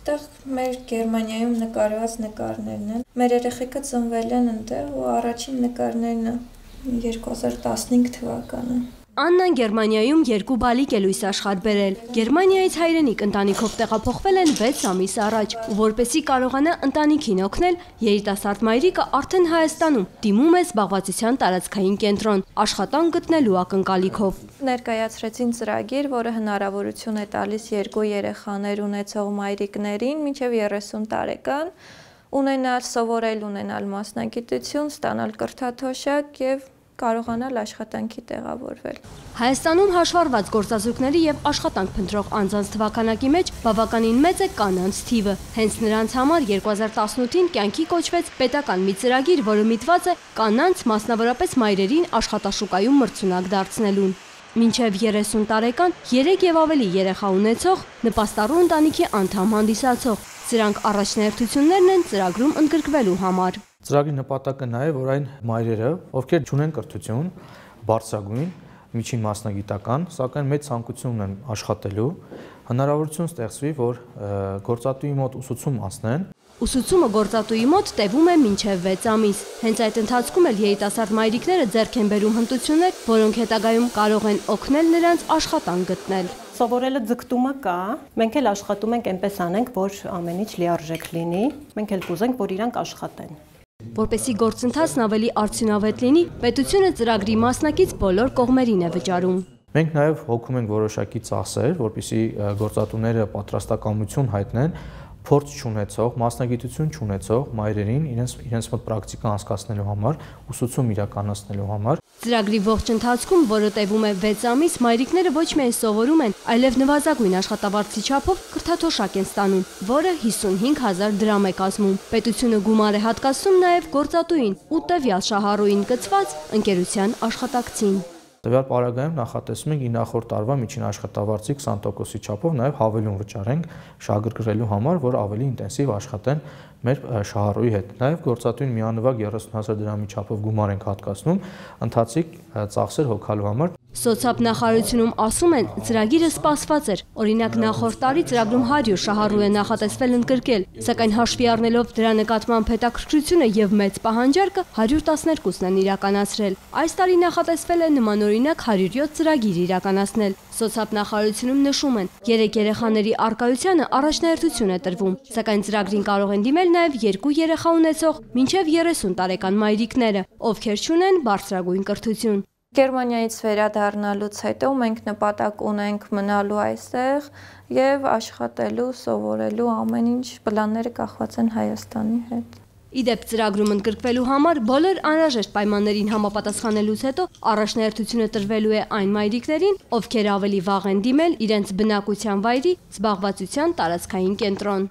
Այդտեղ մեր Գերմանիայում նկարված նկարներն են։ Մեր երեխեքը ծնվել են այնտեղ ու առաջին նկարներն 2015 թվականը։ Աննան Գերմանիայում 2 բալիկ է լույս աշխարհ բերել։ Գերմանիայից հայրենիք ընտանիքով տեղափոխվել են 6 ամիս առաջ, ու որպեսզի կարողանա ընտանիքին օգնել, երիտասարդ մայրիկը արդեն Հայաստանում դիմում է զբաղվածության տարածքային կենտրոն, աշխատանք գտնելու ակնկալիքով։ Ներկայացրեցին ծրագիր, որը հնարավորություն է տալիս 2 երեխաներ ունեցող մայրիկներին մինչև 30 տարեկան ունենալ, սովորել, ունենալ մասնագիտություն, ստանալ կրթաթոշակ եւ կարողանալ աշխատանքի տեղավորվել։ Հայաստանում հաշվառված գործազուրկների եւ աշխատանք փնտրող անձանց թվականակի մեջ բավականին մեծ է կանանց թիվը։ Հենց նրանց համար 2018-ին կյանքի կոչվեց պետական մի ծրագիր, որը միտված է կանանց, մասնավորապես մայրերին աշխատաշուկայում մրցունակ դարձնելուն։ Մինչև 30 տարեկան 3 եւ ավելի երեխա ունեցող, նպաստառու ընտանիքի անդամ հանդիսացող, սրանք առաջնահերթություններն են ծրագրում ընդգրկվելու համար։ Ծրագրի նպատակը նա է, որ այն մայրերը, ովքեր չունեն կրթություն, բարձրագույն, միջին մասնագիտական, սակայն մեծ ցանկություն ունեն աշխատելու, հնարավորություն ստեղծվի, որ գործատուի մոտ ուսուցում անցնեն։ Ուսուցումը գործատուի մոտ տևում է մինչև 6 ամիս։ Հենց այդ ընթացքում էլ երիտասարդ մայրիկները ձեռք են բերում հմտություններ, որոնք հետագայում կարող են օգնել նրանց աշխատանք գտնել։ Սովորելը ձգտումը կա, մենք էլ աշխատում ենք այնպես անենք, որ ամեն ինչ լիարժեք լինի, մենք էլ կուզենք, որ իրանք աշխատեն։ Որպեսզի գործընթացն ավելի արդյունավետ լինի, պետությունը ծրագրի մասնակից բոլոր կողմերին է վճարում։ Մենք նաև հոգում ենք որոշակի ծախսեր, որպեսզի գործատուները պատրաստակամություն հայտնեն փորձ չունեցող, մասնագիտություն չունեցող մայրերին իրենց մոտ պրակտիկա անցկացնելու համար, ուսուցում իրականացնելու համար։ Ծրագրի ողջ ընթացքում, որը տևում է 6 ամիս, մայրիկները ոչ միայն սովորում են, այլև նվազագույն աշխատավարձի չափով կրթաթոշակ են ստանում, որը 55,000 դրամ է կազմում։ Պետությունը գումար է հատկացնում նաև գործատուին ու տվյալ շահառուին կցված ընկերության աշխատակցին։ Տվյալ պարագայում նախատեսում ենք նախորդ տարվա միջին աշխատավարձի 20%-ի չափով նաև հավելում վճարենք շահագրգռելու համար, որ ավելի ինտենսիվ աշխատեն մեր շահառուի հետ։ Նաև գործատուին միանվագ 30,000 դրամի չափով գումար ենք հատկացնում ընթացիկ ծախսեր հոգալու համար։ Սոցիալ նախարարությունում ասում են, ծրագիրը սպասված էր։ Օրինակ նախորդ տարի ծրագրում 100 շահառու է նախատեսվել ընդգրկել, սակայն հաշվի առնելով դրա նկատմամբ հետաքրքրությունը եւ մեծ պահանջարկը 112-ն են իրականացրել։ Այս տարի նախատեսվել է նմանօրինակ 107 ծրագիր իրականացնել։ Սոցիալ նախարարությունում նշում են, 3 երեխաների առկայությանը առաջնահերթություն է տրվում, սակայն ծրագրին կարող են դիմել նաեւ 2 երեխա ունեցող մինչև 30 տարեկան մայրիկները, ովքեր չունեն բարձրագույն կրթություն։ Գերմանիայից վերադառնալուց հետո մենք նպատակ ունենք մնալու այստեղ եւ աշխատելու, սովորելու, ամեն ինչ պլանները կախված են Հայաստանի հետ։ Իդեպ ծրագրում ընդգրկվելու համար բոլոր անհրաժեշտ պայմաններին համապատասխանելուց հետո առաջնահերթությունը տրվելու է այն մայրիկներին, ովքեր ավելի վաղ են դիմել իրենց բնակության վայրի զբաղվածության տարածքային կենտրոն։